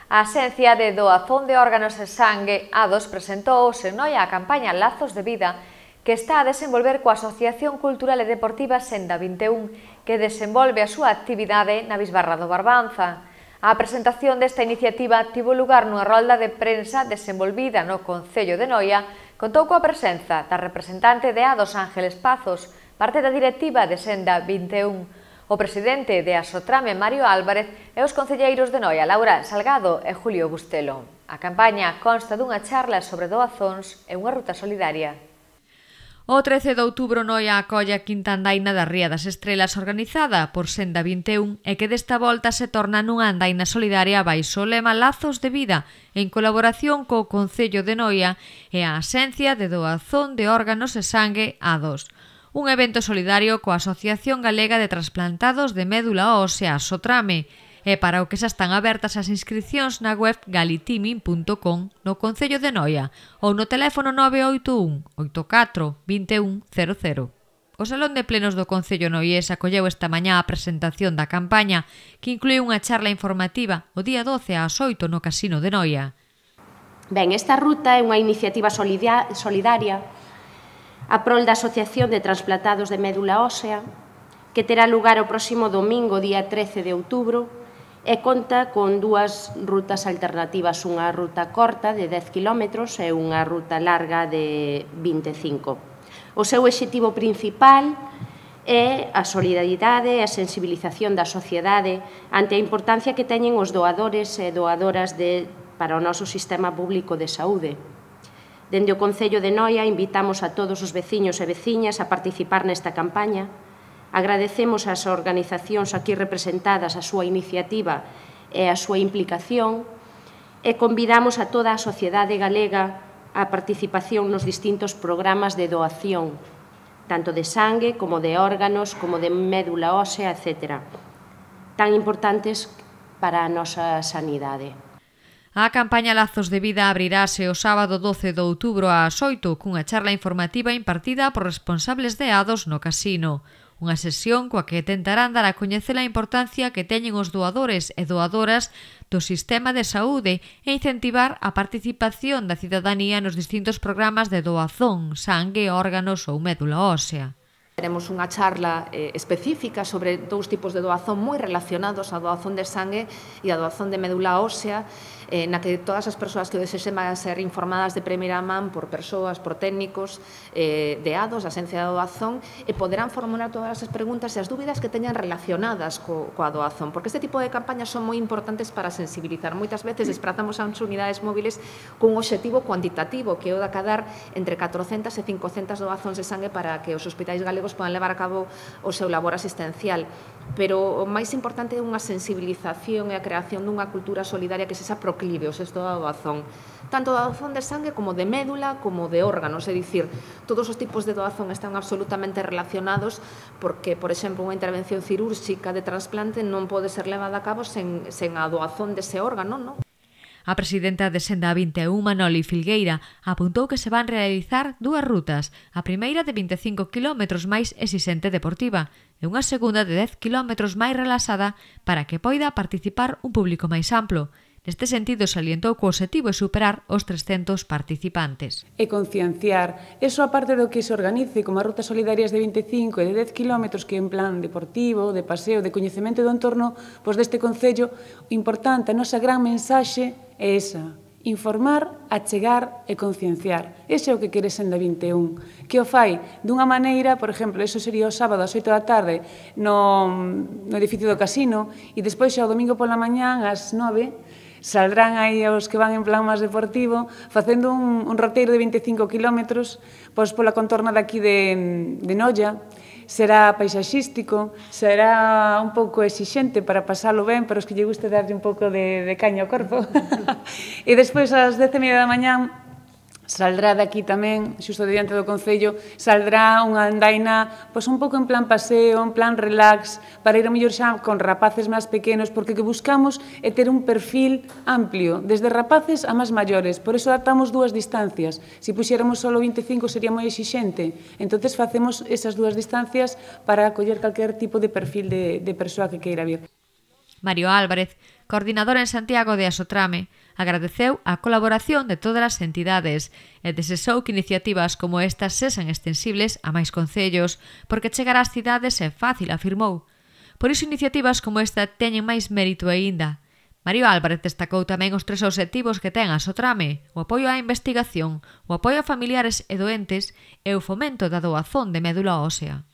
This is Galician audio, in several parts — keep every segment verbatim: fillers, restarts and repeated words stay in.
A Axencia de Doazón de Órganos e Sangue, A dos, presentou en Noia a campaña Lazos de Vida, que está a desenvolver coa Asociación Cultural e Deportiva Senda vinte e un, que desenvolve a súa actividade na Bisbarra do Barbanza. A presentación desta iniciativa tivo lugar nunha rolda de prensa desenvolvida no Concello de Noia, contou coa presenza da representante de A dos, Ángeles Pazos, parte da directiva de Senda vinte e un, o presidente de Asotrame, Mario Álvarez, e os concelleiros de Noia, Laura Salgado e Julio Bustelo. A campaña consta dunha charla sobre doazóns e unha ruta solidaria. O trece de outubro Noia acolle a quinta andaina da Ría das Estrelas organizada por Senda vinte e un e que desta volta se torna nunha andaina solidaria baixo o lema Lazos de Vida, en colaboración co Concello de Noia e a Axencia de Doazón de Órganos e Sangue, A dos. Un evento solidario coa Asociación Galega de Transplantados de Médula Ósea, Asotrame, e para o que xa están abertas as inscripcións na web galitimin punto com no Concello de Noia ou no teléfono nove oito un, oito catro, vinte e un, cero cero. O Salón de Plenos do Concello noiés acolleu esta mañá a presentación da campaña, que inclúe unha charla informativa o día doce ás oito no Casino de Noia. Ben, esta ruta é unha iniciativa solidaria a prol da Asociación de Transplantados de Médula Ósea, que terá lugar o próximo domingo, día trece de outubro, e conta con dúas rutas alternativas, unha ruta corta de dez quilómetros e unha ruta larga de vinte e cinco. O seu obxectivo principal é a solidaridade e a sensibilización da sociedade ante a importancia que teñen os doadores e doadoras de, para o noso sistema público de saúde. Dende o Concello de Noia invitamos a todos os veciños e veciñas a participar nesta campaña. Agradecemos ás organizacións aquí representadas a súa iniciativa e a súa implicación e convidamos a toda a sociedade galega a participación nos distintos programas de doación, tanto de sangue como de órganos, como de médula ósea, etcétera, tan importantes para a nosa sanidade. A campaña Lazos de Vida abrirase o sábado doce de outubro ás oito cunha charla informativa impartida por responsables de A dos no Casino. Unha sesión coa que tentarán dar a coñecer a importancia que teñen os doadores e doadoras do sistema de saúde e incentivar a participación da cidadanía nos distintos programas de doazón, sangue, órganos ou médula ósea. Teremos unha charla eh, específica sobre dous tipos de doazón moi relacionados, a doazón de sangue e a doazón de médula ósea, eh, na que todas as persoas que desexen van a ser informadas de primeira man por persoas, por técnicos eh, de A dos, a Axencia de Doazón, e poderán formular todas as preguntas e as dúbidas que teñan relacionadas co, coa doazón, porque este tipo de campañas son moi importantes para sensibilizar. Moitas veces desplazamos as unidades móviles cun obxectivo cuantitativo, que é o de acadar entre catrocentas e cincocentas doazóns de sangue para que os hospitais galegos podan levar a cabo o seu labor asistencial. Pero o máis importante é unha sensibilización e a creación dunha cultura solidaria que se xa proclive ao sexto da doazón, tanto da doazón de sangue como de médula como de órganos, é dicir, todos os tipos de doazón están absolutamente relacionados porque, por exemplo, unha intervención cirúrxica de trasplante non pode ser levada a cabo sen, sen a doazón dese órgano, non? A presidenta de Senda vinte e un, Manoli Filgueira, apuntou que se van realizar dúas rutas, a primeira de vinte e cinco quilómetros máis exixente deportiva e unha segunda de dez quilómetros máis relaxada para que poida participar un público máis amplo. Neste sentido, salientou que o obxectivo é superar os trescentos participantes. E concienciar. Eso, aparte do que se organice como as rutas solidarias de vinte e cinco e de dez quilómetros, que en plan deportivo, de paseo, de coñecemento do entorno, pois deste Concello, o importante, a nosa gran mensaxe é esa: informar, achegar e concienciar. Ese é o que quere Senda vinte e un, que o fai dunha maneira, por exemplo, eso sería o sábado ás oito da tarde no, no edificio do Casino, e despois xa o domingo pola mañán ás nove saldrán aí os que van en plan máis deportivo, facendo un, un roteiro de vinte e cinco quilómetros pois pola contorna daqui de, de Noia. Será paisaxístico, será un pouco exixente para pasalo ben, pero os que lle guste darlle un pouco de, de caña ao corpo. E despois, ás dez e media da mañán, saldrá daqui tamén, xusto diante do Concello, saldrá unha andaina pois un pouco en plan paseo, en plan relax, para ir a mellor xa con rapaces máis pequenos, porque o que buscamos é ter un perfil amplio, desde rapaces a máis maiores, por iso adaptamos dúas distancias. Se puxéramos só vinte e cinco sería moi exixente, entonces facemos esas dúas distancias para acoller calquer tipo de perfil de, de persoa que queira vir. Mario Álvarez, coordinador en Santiago de Asotrame, agradeceu a colaboración de todas as entidades e desexou que iniciativas como estas sexan extensibles a máis concellos, porque chegar ás cidades é fácil, afirmou. Por iso iniciativas como esta teñen máis mérito aínda. Mario Álvarez destacou tamén os tres obxectivos que ten a Asotrame: o apoio á investigación, o apoio a familiares e doentes e o fomento da doazón de médula ósea.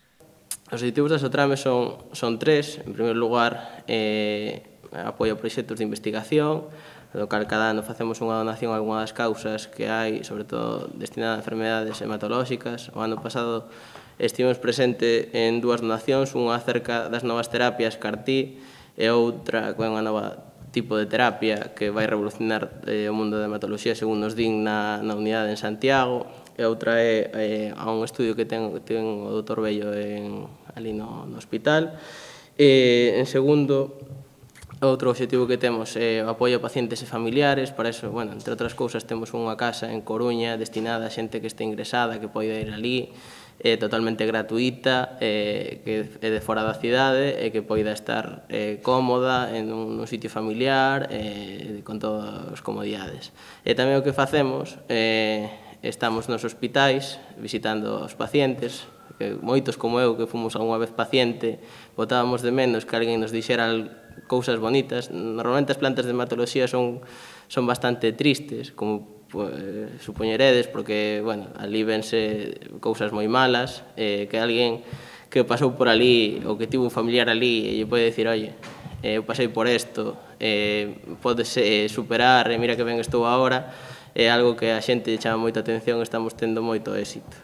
Os obxectivos da Asotrame son, son tres. En primeiro lugar, eh, apoio a proxectos de investigación, do cal cada ano facemos unha donación a algunha das causas que hai, sobre todo destinada a enfermedades hematolóxicas. O ano pasado estivemos presente en dúas donacións, unha acerca das novas terapias C A R T e outra que é unha nova tipo de terapia que vai revolucionar eh, o mundo da hematoloxía, según nos din na, na unidade en Santiago, e outra é eh, a un estudio que ten, ten o doutor Bello en, ali no, no hospital. E, en segundo, outro objetivo que temos é o apoio a pacientes e familiares. Para iso, bueno, entre outras cousas, temos unha casa en Coruña destinada a xente que este ingresada, que pode ir ali, é totalmente gratuita, eh, que é de fora da cidade e que poida estar eh, cómoda en un, un sitio familiar eh, con todas as comodidades. E tamén o que facemos, eh, estamos nos hospitais visitando os pacientes, que moitos como eu que fomos algunha vez paciente botábamos de menos que alguén nos dixera cousas bonitas. Normalmente as plantas de hematoloxía son, son bastante tristes, como pues, supoñeredes, porque, bueno, ali vense cousas moi malas, eh, que alguén que pasou por ali ou que tivo un familiar ali e lle pode dicir, oye, eh, eu pasei por isto, eh, podes eh, superar, e mira que ben estou agora, é algo que a xente chama moita atención e estamos tendo moito éxito.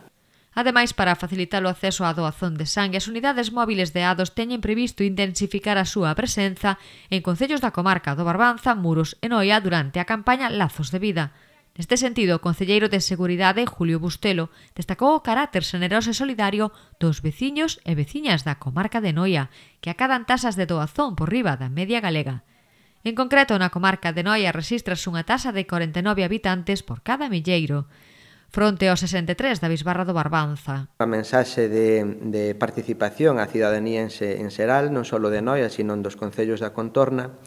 Ademais, para facilitar o acceso á doazón de sangue, as unidades móviles de A D O S teñen previsto intensificar a súa presenza en concellos da comarca do Barbanza, Muros e Noia durante a campaña Lazos de Vida. Neste sentido, o concelleiro de Seguridade, Julio Bustelo, destacou o carácter xeneroso e solidario dos veciños e veciñas da comarca de Noia, que acadan tasas de doazón por riba da media galega. En concreto, na comarca de Noia rexistras unha tasa de corenta e nove habitantes por cada milleiro, fronte aos sesenta e tres da Bisbarra do Barbanza. A mensaxe de, de participación á cidadanía en, en xeral, non só de Noia, sino dos concellos da contorna,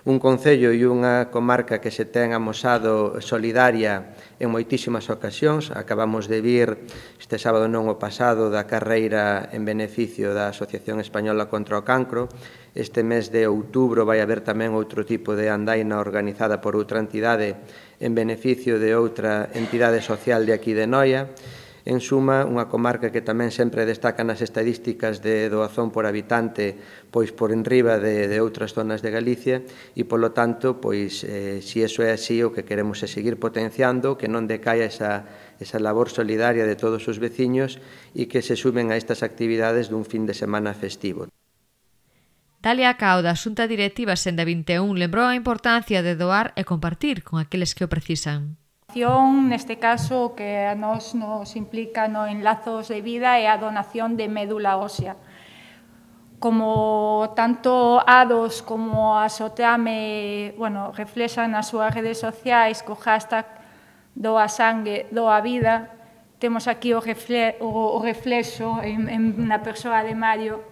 un concello e unha comarca que se ten amosado solidaria en moitísimas ocasións. Acabamos de vir este sábado non o pasado da carreira en beneficio da Asociación Española contra o Cancro. Este mes de outubro vai haber tamén outro tipo de andaina organizada por outra entidade en beneficio de outra entidade social de aquí de Noia. En suma, unha comarca que tamén sempre destaca nas estadísticas de doazón por habitante pois por enriba de, de outras zonas de Galicia e, polo tanto, pois, eh, si eso é así, o que queremos é seguir potenciando, que non decaia esa, esa labor solidaria de todos os veciños e que se sumen a estas actividades dun fin de semana festivo. Dalia Cao, da Xunta Directiva Senda vinte e un, lembrou a importancia de doar e compartir con aqueles que o precisan. Neste caso, o que a nos nos implica no en Lazos de Vida é a donación de médula ósea. Como tanto A D O S como a Asotrame, bueno, reflexan nas súas redes sociais co hashtag doa sangue, doa vida, temos aquí o, refle o, o reflexo en, en na persoa de Mario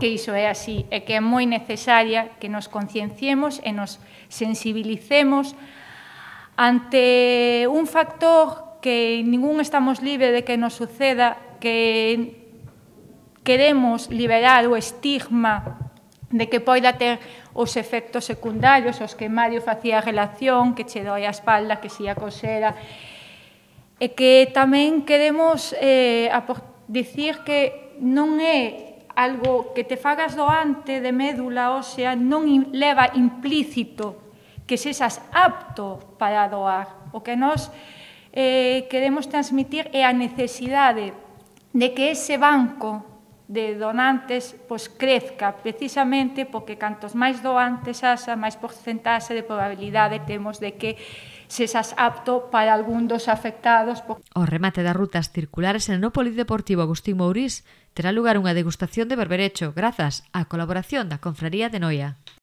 que iso é así, e que é moi necesaria que nos concienciemos e nos sensibilicemos ante un factor que ningún estamos libre de que nos suceda, que queremos liberar o estigma de que poida ter os efectos secundarios, os que Mario facía relación, que che doi a espalda, que si a cosera, e que tamén queremos eh, dicir que non é algo que te fagas doante de médula ósea, non leva implícito que sexas apto para doar. O que nós eh, queremos transmitir é a necesidade de que ese banco de donantes pois, crezca, precisamente porque cantos máis doantes haxa, máis porcentaxe de probabilidade temos de que sexas apto para algún dos afectados. O remate das rutas circulares en o Polideportivo Agustín Mourís terá lugar unha degustación de berberecho grazas á colaboración da Confraría de Noia.